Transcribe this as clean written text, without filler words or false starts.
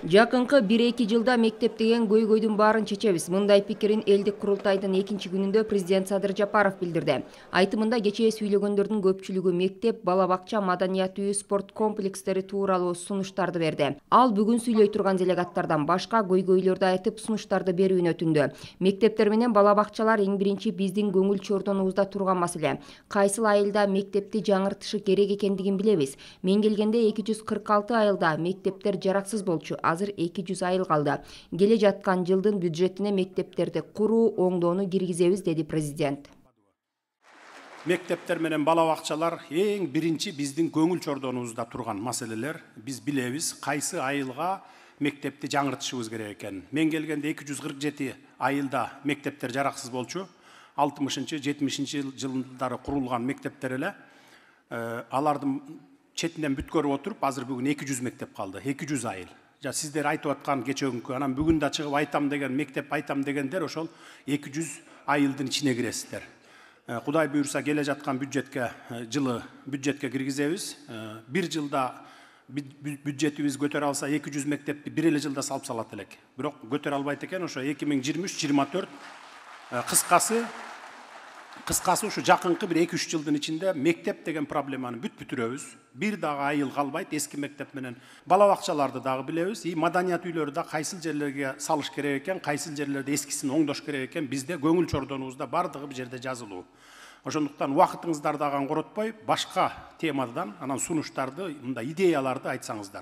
Жакынкы 1-2 жылда мектеп деген көйгөйдүн баарын чечебиз. Мындай пикирин элдик курултайдын 2-чи күнүндө президент Садыр Жапаров билдирди. Айтымында кечээ сүйлөгөндөрдүн көпчүлүгү мектеп, бала бакча, маданият үйү, спорт комплекстери тууралуу сунуштарды берди. Ал бүгүн сүйлөй турган делегаттардан башка көйгөйлөрдү айтып, сунуштарды берүүнү өтүндү. Мектептер менен бала бакчалар эң биринчи биздин көңүл чордонубузда турган маселе. Кайсыл айылда мектепти жаңыртышы керек экендигин билебиз. Мен келгенде 246 айылда мектептер жараксыз болчу. Азыр 200 айыл калды. Келе жаткан жылдын бюджетине мектептерди куруу, оңдоону киргизебиз, деди президент. Мектептер менен бала бакчалар эң биринчи биздин көңүл чордонубузда турган маселелер. Биз билебиз кайсы айылга мектепти жаңыртышыбыз керек экенин. Мен келгенде 247 айылда мектептер жараксыз болчу. 60-70 жылдары курулган мектептер эле. Алардын четинен бүткөрүп отуруп, азыр бүгүн 200 мектеп калды. 200 айыл. Сиздер айтып аткан кечеүнкү, анан бүгүн да чыгып айтам деген, мектеп айтам дегендер ошол 200 айылдын ичине киресиздер. Кудай буйрса келе жаткан жылы бюджетке киргизебиз. Бир жылда бюджетибиз көтөрө алса 200 мектепти бир эле жылда салып салат элек. Бирок көтөрө албайт экен, ошо 2023-24 кыскасы ушу жакынкы бир 2-3 жылдын ичинде мектеп деген проблеманы бүтүрөбүз. Бир дагы айыл калбайт, эски мектеп менен бала бакчаларды дагы билебиз. Маданият үйлөрү да кайсыл жерлерге салыш керек экен, кайсыл жерлерде эскисин оңдош керек экен, бизде көңүл чордонубузда бардыгы бир жерде жазылуу. Ошондуктан убакытыңыздарды аган коротпой, башка темадан анан сунуштарды, мындай идеяларды айтсаңыздар.